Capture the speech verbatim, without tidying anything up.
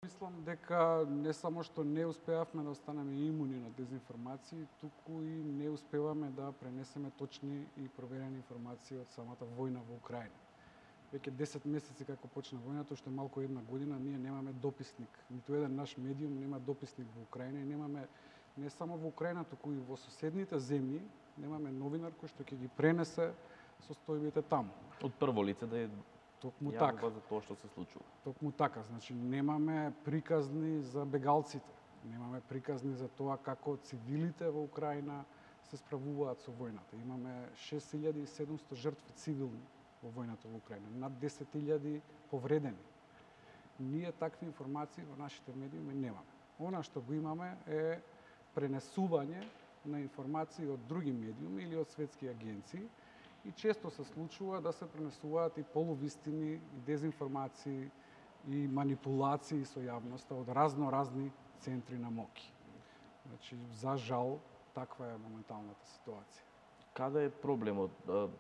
Мислам дека не само што не успеавме да останеме имуни на дезинформации, туку и не успеваме да пренесеме точни и проверени информации од самата војна во Украина. Веќе десет месеци како почна војната, уште малку една година, ние немаме дописник. Ниту еден наш медиум нема дописник во Украина и немаме не само во Украина, туку и во соседните земји, немаме новинар кој што ќе ги пренесе состојбите таму. Од прво лице да е Токму така. за тоа што се случува. Токму така, значи немаме приказни за бегалците, немаме приказни за тоа како цивилите во Украина се справуваат со војната. Имаме шест илјади и седумсто жртви цивилни во војната во Украина, над десет илјади повредени. Ние такви информации во нашите медиуми немаме. Она што го имаме е пренесување на информации од други медиуми или од светски агенции, и често се случува да се пренесуваат и полувистини, и дезинформации, и манипулации со јавноста од разно-разни центри на моки. Значи, за жал, таква е моменталната ситуација. Каде е проблемот?